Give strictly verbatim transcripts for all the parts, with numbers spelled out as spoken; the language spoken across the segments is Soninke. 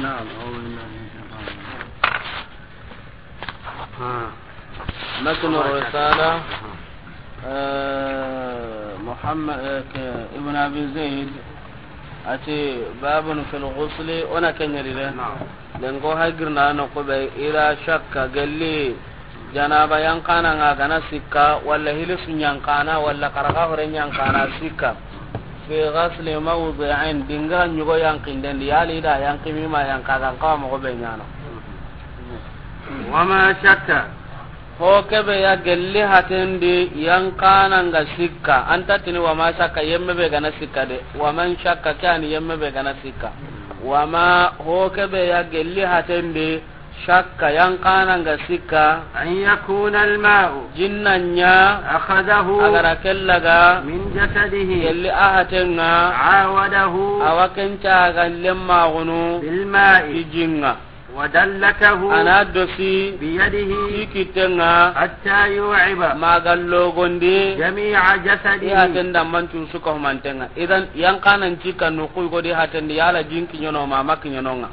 نعم، أعوذ بالله من الشيطان الرجيم. ها. متن الرسالة. آه، محمد، آه، ك-، ابن أبي زيد. أتي باب في الغسل، ونا كان يريد. نعم. Lenko hagirna no ko be ila shakka, gelli janaba yanqana nga gana sikka, walla hilisu yanqana, walla karaga hore yanqana sikka. Fi ghasli mawdi'in, dingira ɲugo yanqinden di, yali da yanqi mi ma yanqa, gan kawa mogo be ɲana. وما شك. Ho kebe ya gelli hatendi yanqana nga sikka. Anta tini wama shakka, yemme be gana sikka de. Waman shakka, kani yemme be gana sikka. Wama, ho kebe ya gelli hatendi shakka, yanqana nga sikka. أن يكون الماء. Jinna ɲa. أخذه. Agara kellaga. من جسده. Gelli a hatenga. عاوده. Awa kenca ga lemma gunu. بالماء. Kijinga. ودلكه. Ana dosi. بيده. Ti kittenga. حتى يوعب. Maga logondi. جميع جسده. I haten damman cusu ka humantenga. Idan, yanqanan cikka nuku godi hatendi yala jinki ɲono ma maki ɲononga.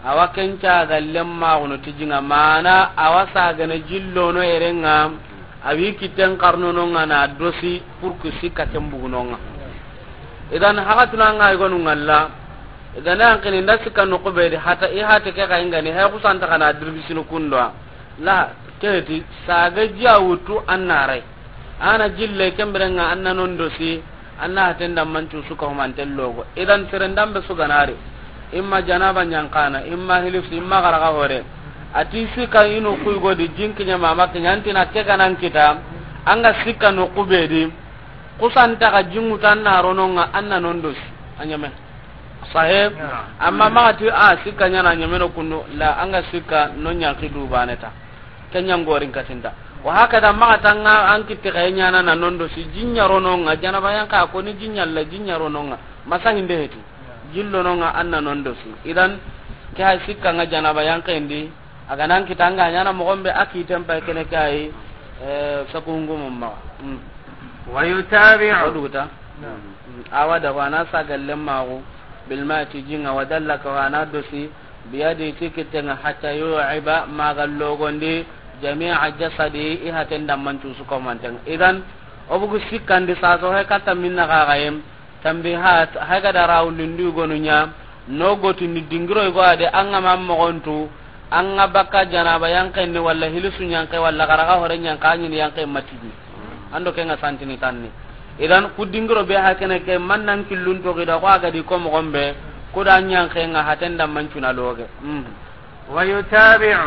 Awa kenca ga lemma gunu tijinga mana awa sagana jillono erenga. Awi kitten karnononga na dosi pour que sikka ken bugunonga. Idan, hakatuna nga igonu ngalla. Igana yanqini nda sikka nuku be di hata, i hate ke ga ingani, he kusanta kana dirbisinu kundwa. La, keti, saga jiya wutu annarai. Ana jille kemberenga anna non dosi, anna haten damman cusu ka humanten logo. Idan seren dambe su ganari. Imma janaba yanqana, imma hilisu, imma karaga hore. Ati sikka inu kuy godi jinki ɲa mama kiɲa antina ke ganan kita, anga sikka nuku be di. Kusanta ga jinguta anna rononga anna non dosi. A ɲame. Sahe. Amma maga ti a sikka ɲana ɲameno kundu la anga sikka non yanqi dubaneta. Kenya ngorin katinda. Wa hakada maga tanga an kitte kay ɲana na non dosi jinya rononga janaba yanqa ko ni jinya la jinya rononga. Masa hinde heti. Jillononga anna non dosi. Idan ke hay sikka nga janaba yanqendi. Aga nan kitanga ɲana mogon be a kiten pay kene kay, eh, sakungu mumma. Mm. ويتابع. Oduguta. Mm. Awa da wana saga lemmagu bil ma'i ti jinga wadallaka wana dosi biyadi ti kittenga hatta yu'iba maga logondi jami'a jasadi i haten damman cusu komantenga. Idan obugu sikkandi saso he katta minna gagayem. Tambihat, hay ga da rawulindi gonu ɲa, no gotini dingiro igo ade, an ga ma mogontu, an ga bakka janaba yanqenni, walla hilisu yanqe, walla karaga hore yanqa, a ɲini yanqe matini. Ando ke nga santini tanni. Idan, ku dingiro be hakene ke, man nan killun to gida, ko a ga di ko mogon be, ku da yanqe nga haten damman cuna loge. Mm. ويتابع.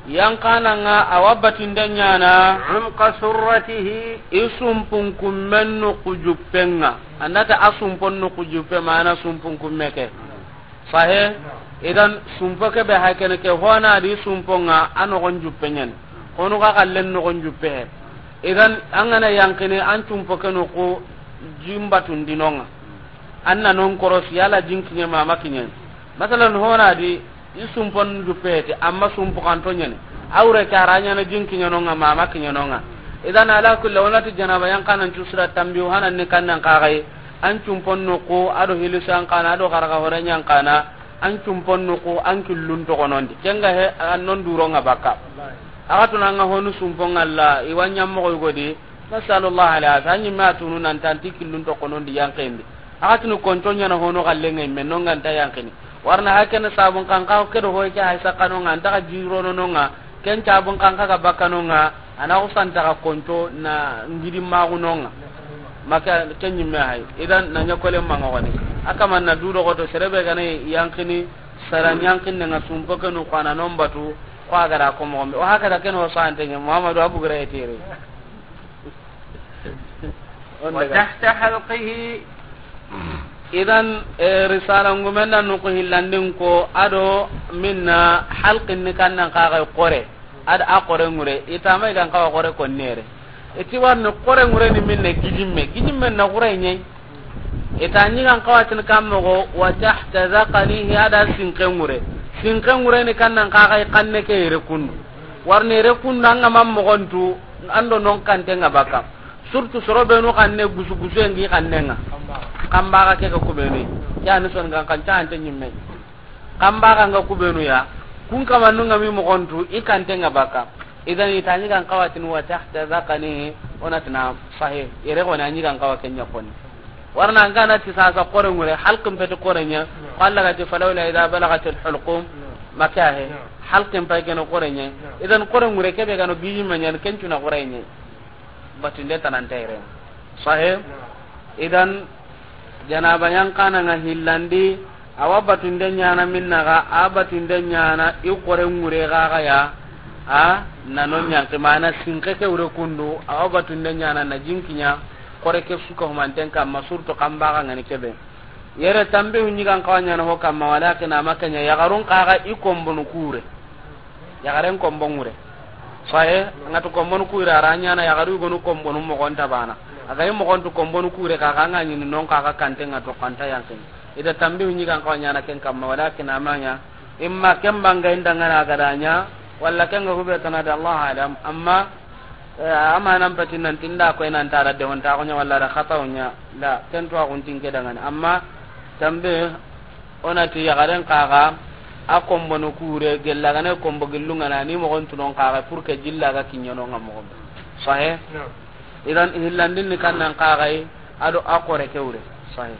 Yanqana nga awa batinde ɲana. عمق سرته. I sumpun kummen nuku juppenga. Andata a sumpon nuku juppe mana sumpun kumme ke. Sahe. Idan sumpo ke be hakene ke hona di sumpo nga a nogon juppe ɲani. Honu ga kallen nogon juppe he. Idan an gana yanqini an sumpo ke nuku jimbatun dinonga. Anna non korosi yala jinkiɲe mama kiɲen. Masalan hona di i sumpon juppeti amma sumpu kanto ɲani. Awre kara ɲana jinkiɲe nonga mama kiɲe nonga. Idan ala kulli wonati janaba yanqanan cusura tambi hanan ni kannan kagai. An sumpon nuku ado hilisu yanqana ado karaga hore yanqana. An sumpon nuku an killun togonondi. Kenga he an non duronga bakka. Agatuna nga honu sumpon Allah iwanya mogo igodi. Nasallallahu alaihi wasallam. Anyi ma tunu nan tanti killun togonondi yanqendi. Agatunu konto ɲana hono galle ngai men nonga nta yanqini. Warna hakene sabun kanka kedo hoy ke hay sakano nga nta jirono nonga. Ken sabun kanka ga bakano nga ana usanta ga konto na ngidi magu nonga. Maka kenyi me hay. Idan na ɲakole manga wani. Akaman na dudo goto serebe gane yanqini saran yanqin nga sumpo kenu kwana nombatu kwa gara ko mo. O hakada ken o sante ɲa Muhammadu Abu Gure tere. وتحت حلقه. Idan, eh, risala ngumen da nuku hillandin ko ado minna halqin ni kannan kaga kore. Ad a kore ngure. Itama igan kawa kore ko nere. Iti warni kore ngure ni minne gijimme. Gijimme na kure nyai. Ita ɲigan kawatin kammogo wa tahta zaqanihi ada sinke ngure. Sinke ngure ni kannan kaga kanne ke yere kundu. Warni yere kundu anga mammogontu. Ando non kante nga baka. Surtout soro benu xanne gusu gusu engi xanne nga. Kanbaga ke ga kubenu, ke a ni soninkan xanta ante ɲimme. Kanbaga nga kubenu ya, kun kamanun ga mi moxon tu, i kante nga baka. Idan i ta ɲigan xawa ti ni wa tahta zaqanihi, o na ti na sahe, yere xo na ɲigan xawa ken ɲa koni. Warna an ga na ti sasa xoore ŋure, halqin peti xoore ɲa, ko Allah ga ti falawla idha balagatil hulqum, maka he, halqin pay ken xoore ɲa. Idan xoore ŋure ke be ga no giji ma ɲa, ken cu na xoore ɲa. Batunde tanante yere. Sahe? Idan, janaba yanqana nga hillandi, awa batunde ɲana minna ga, a batunde ɲana i xoore ŋure ga ga ya, a na no ɲanki mana sinke ke wure kundu, awa batunde ɲana na jinkiɲa, xoore ke su ka humanten kamma, surtout kanbaga nga ni kebe. Yere tanbihu ɲigan xawa ɲana ho kamma, walakin a ma ke ɲa, yaxarun xa ga i konbonu kure. Yaxaren konbon ŋure. Sahe, a nga tu konbonu kure, a ra ɲana yaxaru yogonu konbonu moxon ta bana. A ga i moxon tu konbonu kure, xa xa nga ɲini non xa xa kante nga to xanta yankin. I da tanbihu ɲigan xawa ɲana ken kamma, walakin a ma ɲa. Imma ken banga inda nga na ga da ɲa, walla ken ga hube tana da, Allahu alam. Amma Eh, a ma nan peti nan ti nda koy nan tara de honta ko ɲa walla da xata o ɲa, la, ken to a kun tinke dangani. Amma tanbi, o na ti yaxaren xa ga a konbonu kure, gella ga na konbo gillu nga na ni moxon tu non xa ga, pour que jilla ga kiɲa no nga moxon. Sahe? Idan hillandin ni kannan xa ga yi, a do a xoore ke wure. Sahe.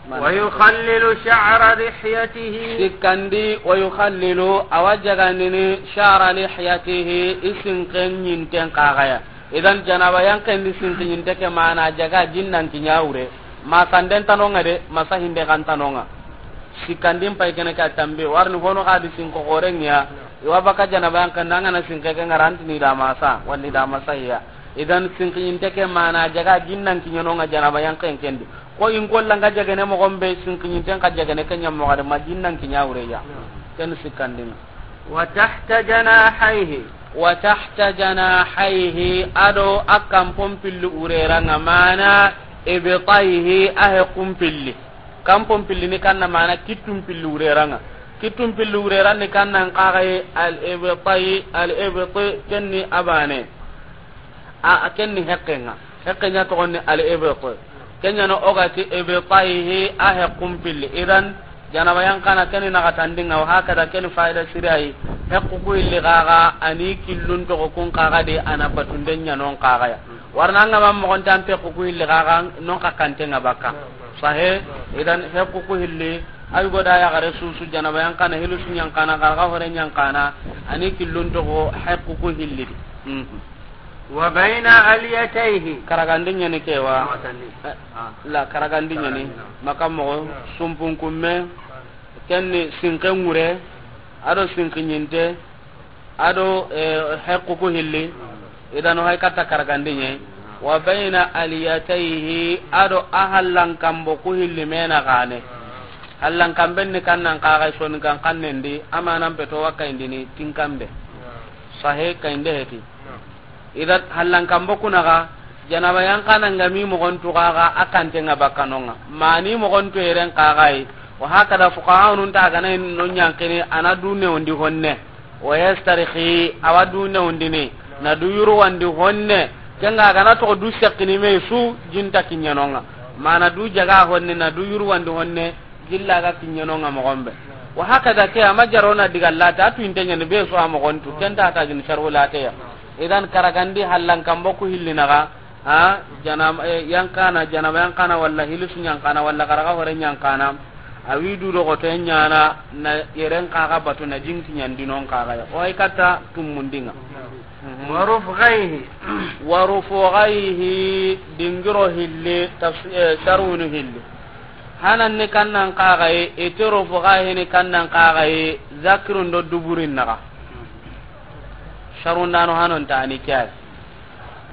ويخلل شعر لحيته. Sikkandi, ويخلل, awa jagandini, شعر لحيته, i sinken ɲinten xa ga ya. Idan janaba yanqen di sinken ɲinte ke mana jaga jinnan kiɲa wure. Ma sanden tano nga de, ma sahinde kan tano nga. Sikkandin pay kene ka tanbi, warni hono xa di sinko xoore ŋa ya. I wa baka janaba yanqen da nga na sinke ke nga ra nti ni da ma sa, wala ni da ma sahiya. Idan sinken ɲinte ke mana jaga jinnan kiɲa no nga janaba yanqen ken di. Ko in ko langa jagene moxon be, sinken ɲinten xa jagene ke ɲa moxo de, ma jinnan kiɲa wure ya. Ken sikkandin. وتحت جناحيه. وتحت جناحيه, a do a kanpon pilli wurera nga mana إبطيه, a hekkun pilli. Kanpon pilli ni kanna mana kittun pilli wurera nga. Kittun pilli wurera ni kannan xa ga yi الإبطي, الإبط ken ni a bane. A, a ken ni hekke nga. Hekke ɲa toxon ni الإبط. Ken ɲa no o ga ti إبطيه, a hekkun pilli. Idan, janaba yanqana ken ni naxatandi nga, wa hakada ken ni fayida siri yi. Hekku ku hilli xa ga, a ni killun toxo kun xa ga di, a na batunde ɲa non xa ga ya. Warna nga ma moxon tan hekku ku hilli xa ga, non xa kante nga baka. Sahe? Idan hekku ku hilli, ay go da yaxare susu janaba yanqana, hilusu yanqana, xaraga xoore yanqana, a ni killun toxo hekku ku hilli di. Mhm. وبين أليتيه. Karagandi ɲa ni ke wa. Awatandi. Eh, ah. La, karagandi ɲa ni. Karagandi ɲa ni. Maka moxo, sumpun kumme, ken ni sinken ŋure, a do sinken ɲinte, a do, eh, hekku ku hilli, idan o hay katta karagandi ɲa. وبين أليتيه, a do a hallan kanbo ku hilli me na gane. Hallan kanben ni kannan xa ga yi, soninkan xannen di, a ma nan peto wa kayindini tinkanbe. Sahe kayinde heti. Idan hallan kanbo ku na ga, janaba yanqana nga mi moxon tu xa ga, a kante nga baka no nga. Ma ni moxon tu yeren xa ga yi. Wa hakada fuqaha nun ta ga na no ɲanqini, a na du newondi honne. ويسترخي, awa du newondini, na du yurwandi honne, ken ga ga na toxo du sekkini me su, jinta kiɲa no nga. Mana du jaga honne, na du yurwandi honne, jilla ga kiɲa no nga moxon be. Wa hakada ke, a ma jaro na diga lata, a tu inte ɲa ni be su a moxon tu, ken ta ta jin sharhu lata ya. Idan karagandi hallan kanbo ku hilli na ga, Ha, janaba, eh, yanqana, janaba yanqana, walla hilusu yanqana, walla xaraga xoore yanqana. A wi du do xoto ɲana, na yeren xa ga batu na jinki ɲandinon xa ga ya. O ay katta tumundinga. Mhm. ورفغيه. ورفغيه, dingiro hilli, tafs-, eh, sharunu hilli. Hanan ni kannan xa ga yi, iti rufugaihi ni kannan xa ga yi, zakirun do duburin na ga. Sharundano hanon ta ni ke ya.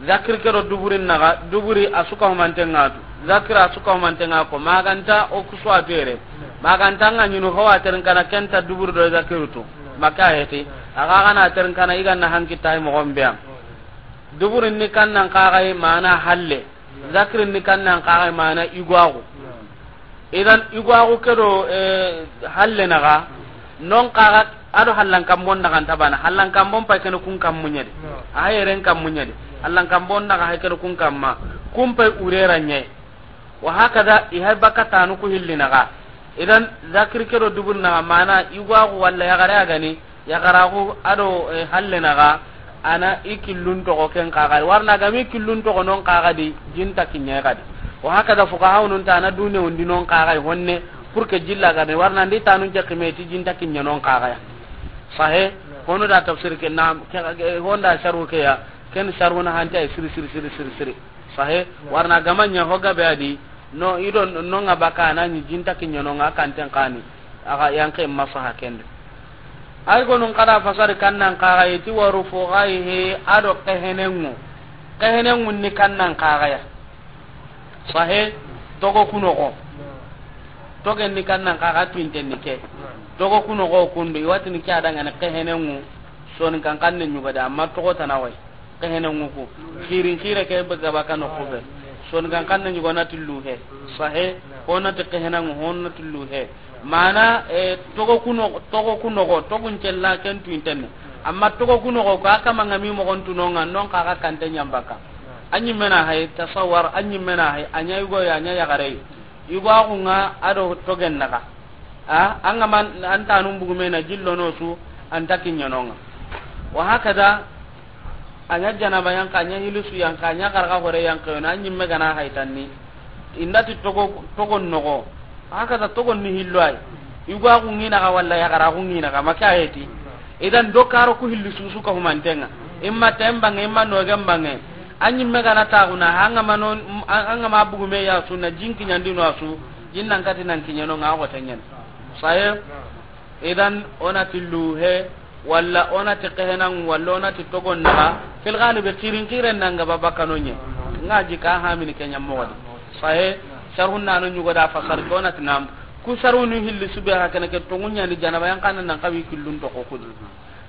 Zakir ke do duburin na ga, duburi a su ka humanten nga tu. Zakir a su ka humanten nga ko, ma ga nta o ku su a tere. Ma ga nta nga ɲinu ho a terin kana ken ta duburi do zakiru tu. Maka heti, a ga ga na terin kana i ga na hanki tay moxon be ya. Duburin ni kannan xa ga yi mana halle. Zakirin ni kannan xa ga yi mana igwaxu. Idan, igwaxu ke do, eh, halle na ga, non xa ga, a do hallan kanbon na ga nta bana. Hallan kanbon pay kene kun kanmu ɲa di. A hayeren kanmu ɲa di. Hallan kanbon na ga hay kene kun kanma. Kun pay urera ɲa yi. Wa hakada, i hay baka tanu ku hilli naxa. Idan, zakir ke do dubur naxa, mana, yugo axu walla yaxare a gani, yaxaraxu a do, eh, halle naxa, a na i killun toxo ken xaxa di. Wari na gami killun toxo non xaxa di, jinta kiɲe xa di. Wa hakada, fuka hawnun ta na dune undi non xaxa di honne, pour que jilla gani, wari na ndi tanun ke xime ti jinta kiɲe non xaxa ya. Sahe, hono da tafsir ke na, ke, ke, honda sharu ke ya, ken sharu na hanta siri, siri, siri, siri, siri. Sahe, wari na gama ɲa ho gabe a di, no, i do, no nga baka na ni jinta kiɲe no nga kanten xani, a ga yanke masaha kende. Ay gonun kada fasari kannan xaxa yi ti waru fo ga yi he, a do kehenengu. Kehenengu ni kannan xaxa ya. Sahe, togo kunoxo. Togen ni kannan xaxa tuinten ni ke. Togo kunoxo kundu, i wa ti ni ke a da nga ni kehenengu. Soni kan kanne ɲuga da, amma togo tana way. Kehenengu ku. Xirin xire ke be gaba kano kube. Soni kan kanne ɲugo na ti luhe. Sahe, ho na ti kehenengu, ho na ti luhe. Mana, eh, togo kuno, togo kunoxo, togun cella ken tuinten ni. Amma togo kunoxo ko a kama nga mi moxon tunonga, non xaxa kante ɲambaka. A ɲimmena hay, tasawar, a ɲimmena hay, a ɲa yugo ya, a ɲa yaxare. Yugo axu nga a do togen naxa. A, an ga ma an tanun bugume na jillo no su, an ta kiɲe no nga. Wa hakada, a ɲa janaba yanka, a ɲa hilisu yanka, a ɲa xarxa hore yanka, yo na ɲimme gana haytanni. Inda ti togo, togon noxo. Hakada togon ni hillo ay. Yugo axu ngina ga walla yaxara axu ngina ga, maka heti. Idan do karo ku hilli susu ka humantenga. Imma tembange, imma nogen bange. A ɲimme gana taxuna, hanga ma non, hanga ma bugume ya su na jinki ɲandino a su, jin nan kati nan kiɲeno nga ko tenyen. Saye, idan o na ti luhe, walla o na ti kehenan, walla o na ti togon naxa, fil galibi xirin xiren nanga ba bakano ɲe. Nga jika hamini kenya mogodi. Saye, sharhun nano ɲugo da fasar ko na ti nam. Ku sharhunu hilli sube ha kene ke tongunya ni janaba yanka nan xawi killun toxo kudi.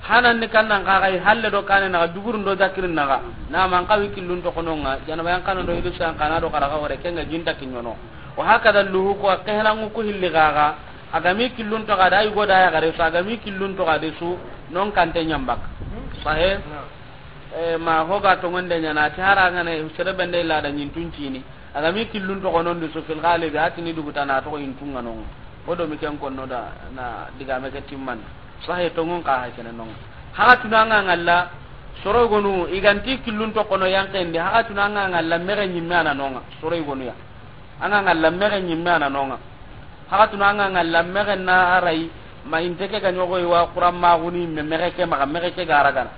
Hanan ni kannan xaxa yi halle do kane naxa dugurun do zakirin naxa. Na man xawi killun toxo no nga, janaba yanka nan do hidu san kana do xarxa hore kenga jinta kiɲono. Wa hakada luhu ko kehenangu ku hilli xaxa. A gami killun toxo a da yugo da yaxare su, a gami killun toxo a de su, non kante ɲambak. Sahe? Eh, ma hoga tongonde ɲana, ti hara ngane, sere bende ila da ɲintun cini. A gami killun toxo non di su fil galibi, a tini duguta na toxo yintunga non. O do mi ken konno da, na digame ke timman. Sahe tongon ka ha kene non. Haxa tuna nga ngalla, soro gonu, i ganti killun toxo no yankendi, haxa tuna nga ngalla, mexe ɲimme ana nonga, soro gonu ya. Anga ngalla mexe ɲimme ana nonga. Haxa tuna anga ngalla mexe na aray, ma inte ke ga ɲogo i wa Quran maxuni me mexe ke maxa, mexe ke ga ragana.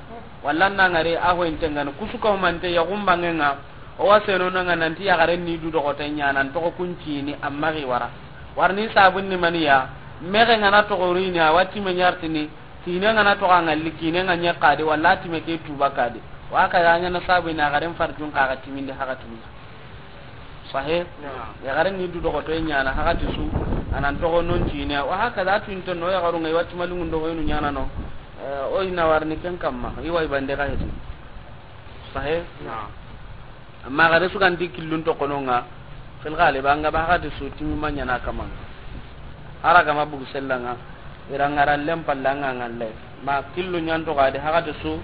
Walla na ngari a ho inte ngana, kusu ka humante yaxumbangenga, o wa seno nanga nanti yaxaren ni du doxote ɲa nan toxo kuncini, amma xi wara. Warni sabun ni maniya, mexe ngana toxorini, a wa time ɲartini, kine ngana toxo a ngalli, kine nga ɲe kadi, walla time ke tuba kadi. Wa ka ya ɲana sabun ni yaxaren farjun xaxa timindi haxa tumi. Sahe? Naam. Yaxare ni du doxoto ɲana, haxa ti su, anan toxo non cine, wa hakaza, a tuinten no, yaxaru nga i wa timalingun do hoynu ɲana no. Eh, o ina warni ken kamma, i wa i bande xa heti. Sahe? Naam. Amma yaxare su ganti killun toxo no nga, fil galiba nga ba haxa ti su, timi ma ɲana kamma. Hara gama bugu sellanga, i ra ngara lem palla nga ngalle. Ma killu ɲanto ga di haxa ti su,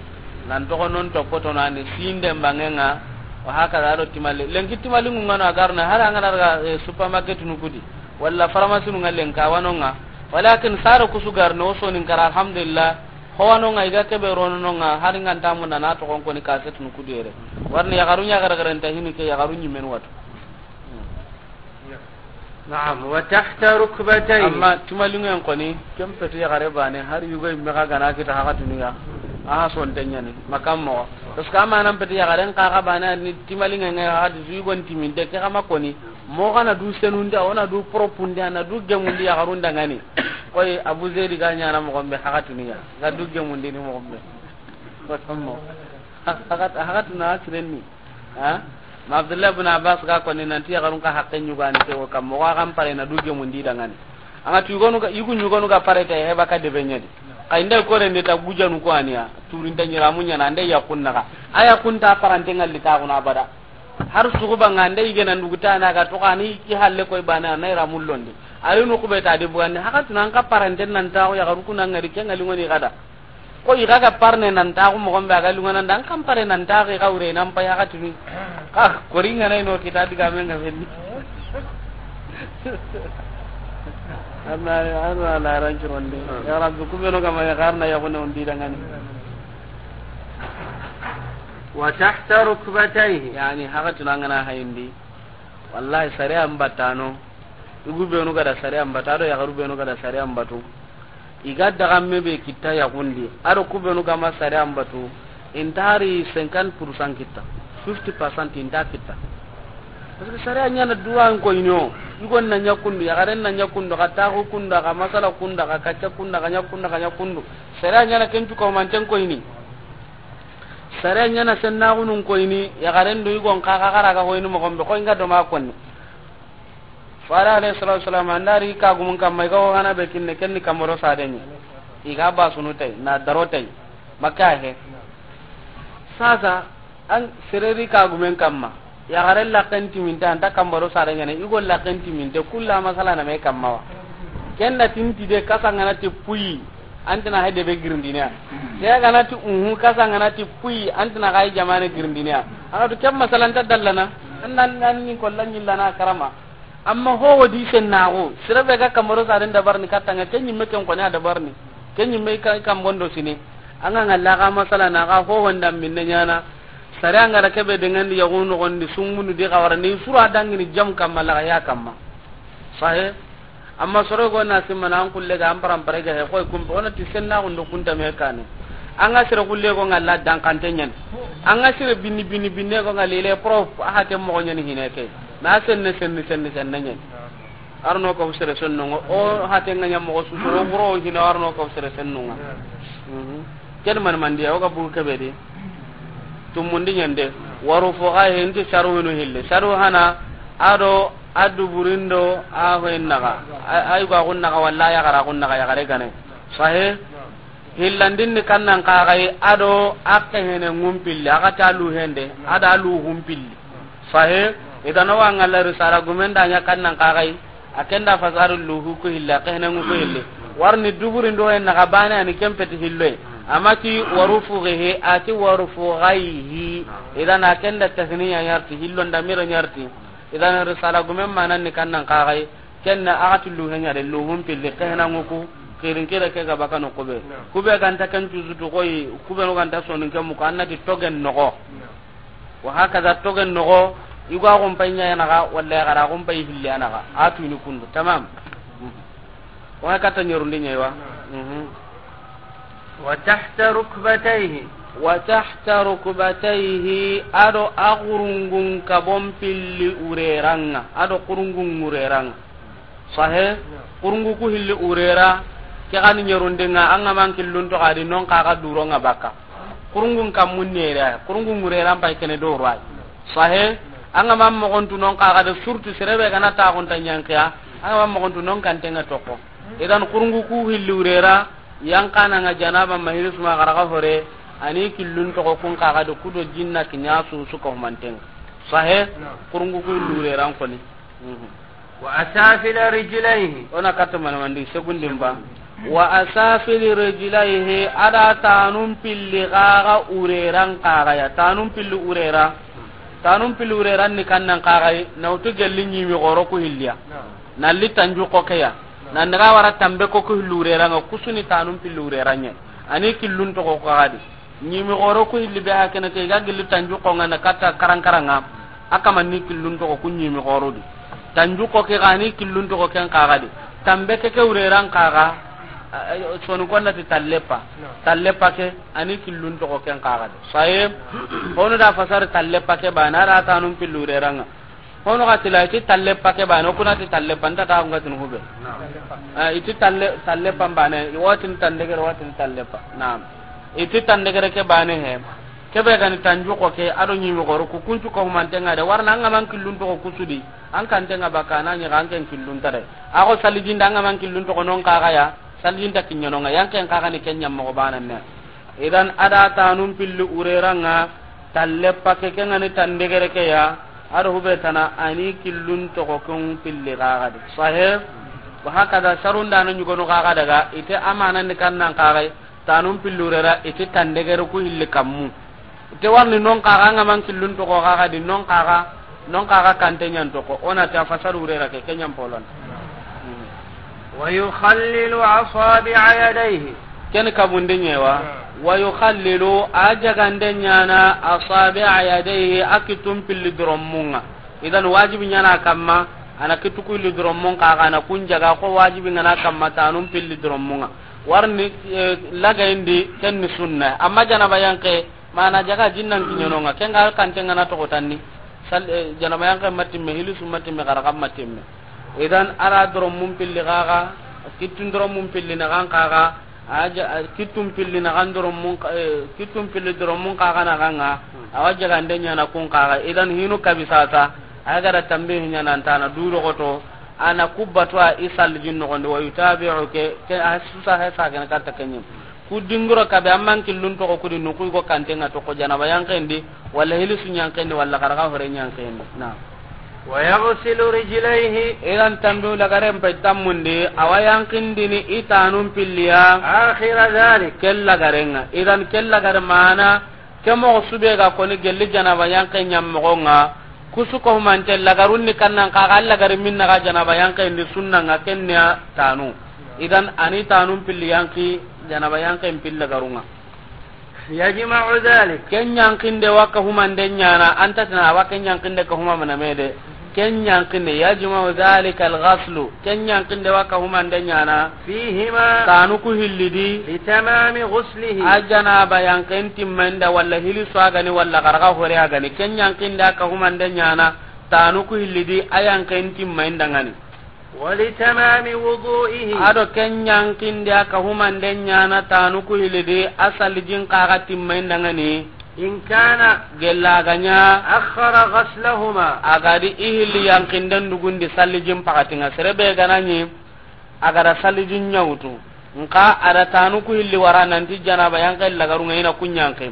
nan toxo non topoto nani, sinde mbangenga, wa hakaza do timali. Lenki timali ngungano a garna, hara ngana daga, eh, supermarket nu kudi, walla pharmacie nu nga lenka wanonga. Walakin sara kusu garna, o sonin kara, alhamdulillah. Ho wanonga, i ga kebe rononga, hari nganta munda na toxon koni kaset nu kudi yere. Warni yaxaru ɲa gara gara nta hini ke yaxaru ɲimen watu. Naam, wa tahta rukbatayhi. Amma timalinŋen koni, ken peti yaxare bane, har yugo yimme xa gana kita haxatuniya, a ha sonte ɲani, makam moxo. Parce que a manan peti yaxaren xa xa bane, a ni timalinŋen ŋa haxati su yugon timinte, ke xa ma koni, moxo xa na du senunde, o na du propunde, a na du gemundi yaxarun dangani. Koy, Abu Zedi ga ɲana moxon be haxatuniya, ga du gemundi ni moxon be. Makam moxo. Haxat-, haxatuna sirenni. Ha? Ma Abdullah ibn Abbas ga koni nanti yaxarun ka haqqe ɲugani ke wo kam, moxo a kan pare na du gemundi dangani. Anga tu yugonu ga, yugu ɲugonu ga pare ta he baka debe ɲadi. Xa inda kore nde ta gujanu ko aniya, turinta ɲiramu ɲana, ande yakun naxa. A yakun ta parante ngalli ta kuna abada. Har sugu banga ande yige nan duguta na ga to kani ki halle koy bana na ira mullondi. Ari no kube ta de bugandi, haxatuna an ka parante nan ta o yaxaru kuna ngari ke ngali ngoni gada. Ko i ga ga parne nan ta ko mo gombe a ga lunga nan dan kan pare nan ta ko i ga wure nan pa ya ga tunu. Ka kori ngana ino kita diga men ga fenni. Amma, amma la ran curonde. Ya Rabbi, ku be no ga ma ya garna ya ko ne on di dangani. Wa tahta rukbatayhi. Yani, haka tuna ngana hayindi. Wallahi, sariya mbatano. Yugu benu ga da sariya mbata, a do yaxaru benu ga da sariya mbatu. I ga dagamme be kitta yaxundi, a do ku benu ga ma sariya mbatu, i nta hari cinquante pour cent kitta, fifty percent i nta kitta. Parce que sariya ɲana duwa n koyini o, yugon na ɲa kundu, yaxaren na ɲa kundu, xa taxu kundu, xa masala kundu, xa kacca kundu, xa ɲa kundu, xa ɲa kundu. Sariya ɲana ken cu ko manten koyini. Sariya ɲana sennaxunun koyini, yaxaren do yugon xa, xa, xa ra ga hoyini moxon be, xoy nga do ma konni. Fare alayhi salatu wasalam, an da ri kagumun kamma, i ga wo gana be kinne, ken ni kamaro sadenye. I ga basunu tay, na daro tay. Makka he. Sasa, an sere ri kagumen kamma. Yaxare laken timinte, an ta kamaro sadenye ne, i go laken timinte, kulla masala na me kamma wa. Ken da tinti de, kasa ngana ti puyi. Antina hay debe girindiniya. Ke gana ti uhu, kasa ngana ti puyi, antina hay jamane girindiniya. Anga to kem masalan ta dallana. Annan nan ni kollan yillana karama. Amma ho wodi sennaxu, sere be ga kamaro saren dabarni kattanga, ken ɲimme ken koni a dabarni. Ken ɲimme ka, kambondo sini. Anga ngalla ga masala na ga ho honda minne ɲana. Sare anga da kebe dengandi yaxu noxondi sungunu di xawara ni sura dangini jam kamma la ya kamma. Sahe. Amma soro go na simana an kulle ga an parampare ga he koy kumbe, o na ti sennaxundo kunta me kane. Anga sere kulle go ngalla dankante ɲan. Anga sere binni, binni, binne go ngalla ile prof, a hate moxo ɲani hine ke. Na senne, senne, senne, senne ɲan. Arno ko sere sennunga, o hate nga ɲa moxo su, soro buro hina arno ko sere sennunga. Mhm. Ken man mandiya, o ga bugu kebe di. Tumundi ɲande, waru fo ga he nti saru hinu hille. Saru hana, a do a duburindo a hoyen naxa. A, ay ga gun naxa walla yaxara gun naxa yaxare gane. Sahe? Hillandin ni kannan kaxay, a do a kehene ŋun pilli, a ga ta lu hende, a da lu hun pilli. Sahe? I ga na wa ngalla risala gumen da ɲa kannan kaxay, a ken da fasaru luhu ku hille, a kehene ŋu ku hille. Warni duburindo hen naxa bane ani ken peti hilloy. Amati waru fugehe, ati waru fugayhi. Idan a ken da tasniya ɲarti, hillon da miro ɲarti. Idan risala gumen manan ni kannan kaxay, ken na a ga ti luhe ɲa de, luhun pilli, kehene ŋu ku, kirin kire ke ga bakano kube. Kube ganta ken cusutu koy, kube no ganta sonin ke muku, annati togen noxo. Wa hakaza togen noxo, i ga gun pay ɲa naxa, walla i ga ra gun pay hilli naxa. A tuni kundu, tamam. Wa kata ɲerundi ɲa wa. Mhm. Wa tahta rukbatayhi. Wa tahta rukbatayhi, a do a xurungun kabon pilli ureranga, a do xurungun ureranga. Sahe, xurungu ku hilli urera, ke gani ɲerundinga, anga man killun to gadi non kaga duronga baka. Xurungun kammun nere, xurungun urera mpai kene do roi. Sahe, anga man mogontu non kaga de surtu serebe gana ta gonta ɲankiya, anga man mogontu non kantenga toko. Idan xurungu ku hilli urera, yankananga janaba mahirisuma garaga hore, ani killun togo kun kaga de kudo jinna kiɲa su suka humantenga. Sahe, xurungu ku hilli urera koni. Mhm. Wa asafila rijlaihi. Ona katta mana mandi segundin ba. Wa asafili rijlaihi, a da tanun pilli gaga ureran kaga ya. Tanun pilli urera. Tanun pilli ureran ni kannan kaga yi, na utu gelli ɲimi goro ku hilliya. Na li tanju ko ke ya. Na ndaga wara tambe ko ku hillu ureranga kusuni tanun pilli ureran ɲa. Ani killun togo kaga di. Ɲimi goro ku hilli be hakene ke ga gilli tanju ko ngana katta karankaranga. A kama ni killun togo ku ɲimi goro di. Tanju ko ke gani killun togo ken kaga di. Tambe ke ke ureran kaga. Soni konna ti tallepa. Tallepa ke ani killun togo ken kaga di. Saye. Hono da fasar tallepa ke bana da tanun pilli ureranga. Hono ga tila iti tallepa ke bane, o kuna ti tallepa, nta ta nga tin hube. Eh, iti talle, tallepa bane, watin tandegere, watin tallepa. Naam. Iti tandegere ke bane he. Kebe gani tanju ko ke, a do ɲimi goro, ku kuncu ko humantenga de, warna anga man killun togo kusudi, an kantenga baka na ɲi ga an ken killun tare. A go salijinda anga man killun togo non kaga ya, salijinda kiɲanonga, yan ken kaga ni ken ɲammo bana ne. Idan a da tanun pilli ureranga, tallepa ke ke ngani tandegere ke ya, a do hube tana ani killun togo kun pilli kaga di. Sahe, wa hakada sarunda na ɲugono kaga daga, ite amana ni kannan kaga, Tanun pillu rera, i ti tandegere ku hilli kammu. I ti warni non kaga, an ga man killun toxo kaga di, non kaga, non kaga kante ɲan toxo. O na ti a fasaru rera ke, ke ɲan polon. ويخلل أصابع يديه. Ken kabunde ɲewa. ويخلل, a jagande ɲana, أصابع يديه, a kittun pilli dorommun ŋa. Idan wajibi ɲana kamma, a na kittu ku hilli dorommun kaga, a na kun jaga ko wajibi ŋana kamma tanun pilli dorommun ŋa. Warni, eh, lagayindi, ken ni sunna. Amma janaba yanke, mana jaga jinnan kiɲenonga, ken ga kante ŋana toxo tanni. Sal-, eh, janaba yanke matimme, hilisu matimme, xaraxa matimme. Idan a ra dorommun pilli kaga, kittun dorommun pilli na kan kaga, a ja-, a kittun pilli na kan dorommun ka-, eh, kittun pilli dorommun kaga na kan ŋa, awa jagande ɲana kun kaga. Idan hinu kabi sasa, a ga da tambe ɲana ntana du rogoto, a na kubbatu a i salijin noxondi, ويتابع ke, ke a susa he sa gana katta kenyin. Ku dingiro kabe amman killun toxo kudi nuku go kantenga toxo janaba yankendi, walla hilisu yankendi, walla xaraxa hore yankendi. Na. ويغسل رجليه. Idan tambe lagaren pe tammundi, awa yankindini i tanun pilliya. آخر ذلك. Kel lagarenga. Idan kel lagare mana, ke moxo sube ga koni gelli janaba yanke ɲammoxonga, kusu ko humante lagarun ni kannan kaga lagari minna ga janaba yanke ndi sunnanga kenniya tanu. Idan ani tanun pilli yanki, janaba yanke pil lagarunga. يجمع ذلك. Ken yankinde wa ka humande ɲana, anta tina wa ken yankinde ka huma mana mede. Ken yankinde, يجمع ذلك الغسل. Ken yankinde wa ka humande ɲana. فيهما. Tanu ku hillidi. لتمام غسله. A janaba yanken timmainda walla hili swagani walla xaraxa hore agani. Ken yankinde a ka humande ɲana. Tanu ku hillidi a yanken timmainda ngani. ولتمام وضوئه. Ado ken yankinde a ka humande ɲana tanu ku hillidi a salijin kaga timmainda ngani. إن كان. Gella ganya. أخر غسلهما. Agadi i hilli yankinden dugundi salijin pakatinga serebe ganani. Agada salijin ɲawtu. Nka ada tanu ku hilli wara nanti janaba yanke lagarunga ina kun yanke.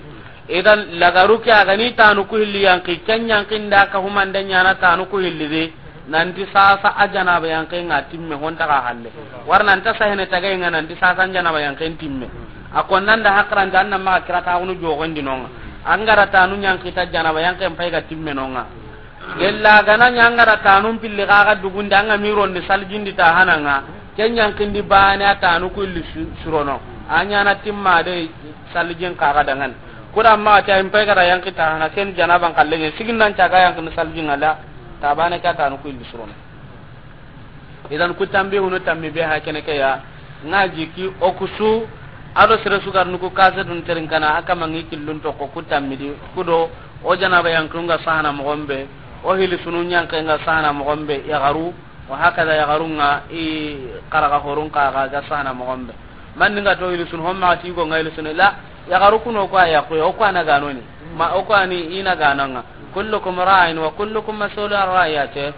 Idan lagaru ke agani tanu ku hilli yanki, ken yankinda ka humande ɲana tanu ku hilli de. Nanti sasa a janaba yanke nga timme honta ga halle. War nanta sahene tagay nga nanti sasa janaba yanke timme. A konnanda hakranta anna ma kirata hunu jogondi nonga. Angara tanu yankita janaba yanke mpay ga timme nonga. Gella gana ɲa angara tanun pilli kaga dugundi anga mirondi salijindi ta hananga. Ken yankindi bane a tanu ku illi su-, surono. A ɲana timma de salijin kaga dangan. Kuda ma ta impay gara yanki ta hana ken janaban kallenye sigin nan caga yankini salijin ala. Ta bane ka tanu ku illi surono. Idan ku tambi hunu tammi be ha kene ke ya. Nga jiki o kusu. Ado sere sugar nuku kase dun terin kana aka mangi killun to ko ku tammi di kudo. O janaba yankunga sahana mogombe. O hili sunu yankenga sahana mogombe yagaru. Wa hakada yagarunga i karaga horun kaga ga sahana mogombe. Man nga to hili sunu homma ti go nga hili sunu la. Yagaru kuno ko aya ko o ko ana ganoni. Ma o ko ani ina gananga. Kullukum ra'in wa kullukum mas'ulun an ra'iyatihi.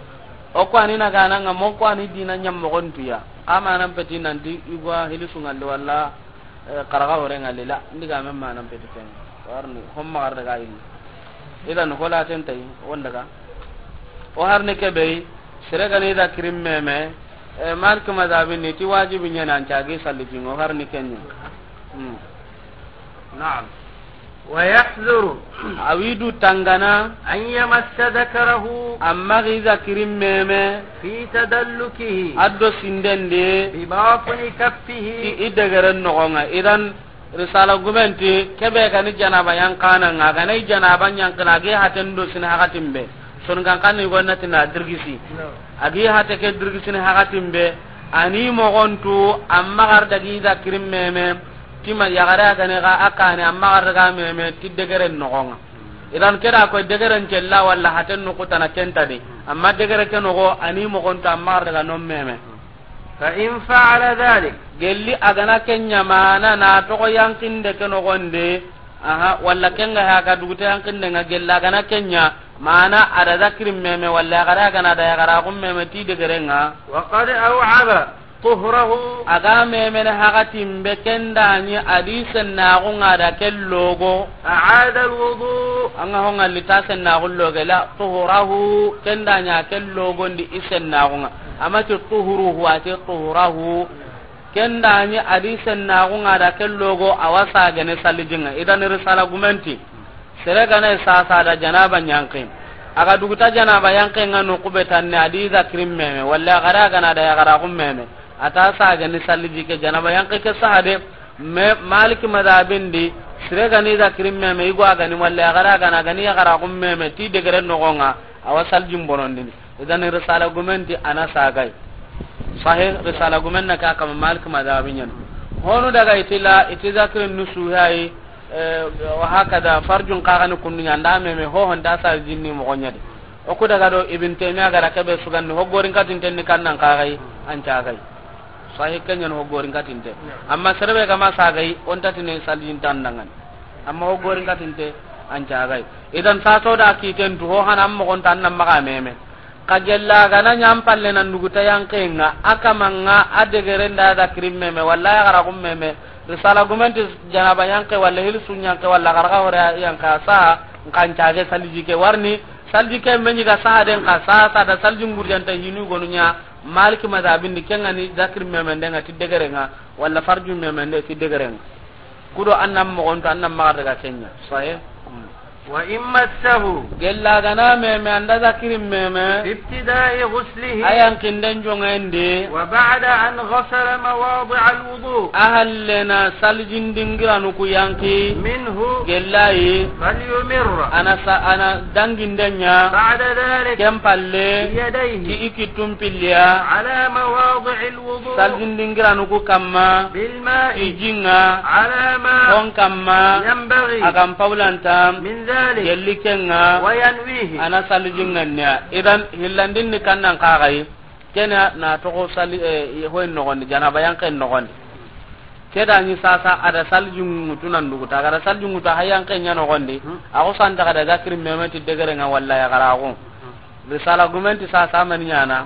O ko ani na gananga mo ko ani dina ɲam mogontuya. Ama nan peti nanti igwa hilisu ngalli walla, eh, karaga hore ngalli la. Ndiga men ma nan peti ken. Warni homma gar daga yi. Idan hola ten tay won daga. O harni kebe sere gani da kirim meme, eh, Malik mazhabin ni ti wajibi ɲana an cagi salli jingo harni kenni. Hmm. نعم. ويحذر. Awidu tangana. أن يمس ذكره. Amma giza kirim meme. في تدلكه. Addo sindende. بباطن كفه. Ti i degeren nogonga. Idan risala gumenti kebe gani janaba yankana nga gani janaba yankana gi haten do sin hakatimbe. Son kan kan ni gonna tina dirgisi. Agi hate ke dirgisini hakatimbe. Ani mogontu amma gar dagi da kirim meme. Tima yagare a gane ga a kane amma gar daga meme ti degeren nogonga. Idan keda ko degeren cella walla haten nukutana kentadi. Amma degere ke nogo ani mogontu amma gar daga non meme. فإن فعل ذلك. Gelli a gana kenya mana na togo yankinde ke nogonde. Aha, walla kenga ha ga dugute yankinde nga gelli a gana kenya mana ada zakirin meme walla a gara gana da ya gara kun meme ti degerenga. وقد أوعب طهره. Aga memene hakatimbe kendani adi sennaxunga da kellogo. أعاد الوضوء. Anga honga lita sennaxu loge la tuhurahu kendani a kellogo ndi i sennaxunga. Amati tuhuruhu ati tuhurahu. Ken da ni hadisen na gunga da ken logo a wa sagene salijin ŋa. Idan risala gumenti. Sere ga na sasa da janaba yanqe. A ga duguta janaba yanqe ŋa no kube tanne a di zakirin meme. Walla a ga ra ga na da yaxaraaxun meme. A ta sagene saliji ke janaba yanqe ke sahade. Me Maliki madabin di. Sere ga ni zakirin meme. Igo a ga ni walla a ga ra ga na ga ni yaxaraaxun meme. Ti degere noxon ŋa. A wa salijin bonondini. Idan risala gumenti a na sagay. Sahih, risala gumen na ka kama Malik madhabi ɲan. Honu daga itila, iti zakirin nusu yayi, eh, wa hakada farjun kaga ni kundu ɲa nda meme ho honda salijin ni moxo ɲa di. O ku daga do Ibn Taymiya ga ra kebe sugandi ho gorin katinten ni kannan kagay, an cagay. Sahih ken ɲan ho gorin katinte. Amma serebe ga ma sagay, on tatine salijin tan dangan. Amma ho gorin katinte, an cagay. Idan saso da kiten tu ho hana moxon tan nan maxa meme. Ka gella ga na ɲa an palle nan duguta yanqe ŋa, a kama ŋa, a degere nda zakirin meme, walla yaxaraaxun meme, risala gumenti janaba yanqe, walla hilisun yanqe, walla xaraxa hore yanqe, a sa, nkan cage saliji ke warni, saliji ke me ɲi ga sa den ka sa, sa da saliji ngurjanta hinu gonu ɲa, Maliki madhabin di ken ŋa ni zakirin meme nde ŋa ti degere ŋa, walla farjun meme nde ti degere ŋa. Kudo an nan moxon tu, an nan maxa daga ken ɲa. Sahih. وإن مسه Gella ga na meme, an da zakirin meme. في ابتداء غسله A yanqinden jonŋen di. وبعد أن غسل مواضع الوضوء A halle na salijin dingiranu ku yanqi. منه Gella yi. فليمر A na sa, a na danginden ɲa. بعد ذلك Ken palle. بيديه Ti i kittun pilliya. على مواضع الوضوء Salijin dingiranu ku kamma. بالماء Ti jin ŋa. على ما Hon kamma. ينبغي A kan paulanta. من ذلك Gelli ken ŋa. وينويه A na salijin ŋa niya. Idan hillandin ni kannan kagay. Kena na toxo sali, eh, hoyin noxondi, janaba yanqen noxondi. Ke da ni sasa a da salijin ŋutu nan duguta, a ga da salijin ŋutu a ha yanqen ɲa noxondi. A xo santa ga da zakirin meme ti degere ŋa walla yaxaraaxu. Risala gumenti sasa mani ɲana.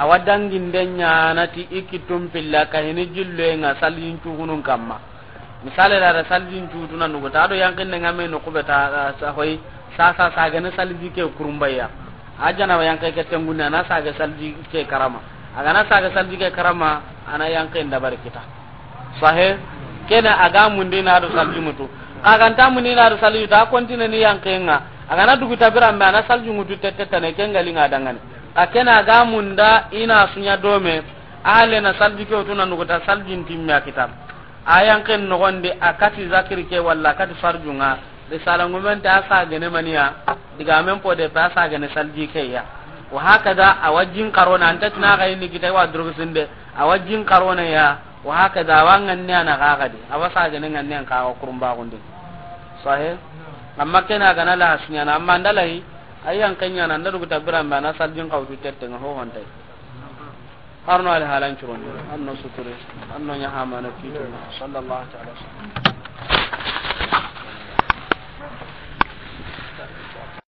A wa danginden ɲana ti i kittun pilla ka hini jilloye ŋa salijin cugunun kamma. Misale da, da salijin cutu nan duguta, a do yanqinde ŋa me no kube ta, a, sa hoyi, sa, sa, sagene saliji ke kurumbaya. A janaba yanqe ke tengunde, a na sage saliji ke karama. A ga na sage saliji ke karama, a na yanqe ndabari kita. Sahih, kena a ga mundi na do saliji ŋutu. A ga nta mundi na do saliji ŋutu, a kontine ni yanqe ŋa. A ga na duguta biranbe, a na saliji ŋutu tette tane, ken ga li ŋa dangane. A kena a ga munda, i na su ɲa dome, a halle na saliji ke wutu nan duguta, salijin timme a kita. A yanqen noxondi a kati zakiri ke walla a kati farjun ŋa. Risala ngumente a sagene maniya, digamen po de pe a sagene saliji ke ya. Wa hakada a wa jin karona, anta tina ga yini kita wa drogisinde, a wa jin karona ya. Wa hakada a wa ŋanne a na ga gadi, a wa sagene ŋanne an ka ga kurumbaxundi. Sahih. Amma kena ga na la hasuɲana, amma ndalahi, a yanqen ɲana, nda duguta biranbe a na salijin xa wutu tette ŋa ho hontay. Arno ali halan curondi, arno suturi, arno ɲahamana kitu. Sallallahu ta'ala wa sallam.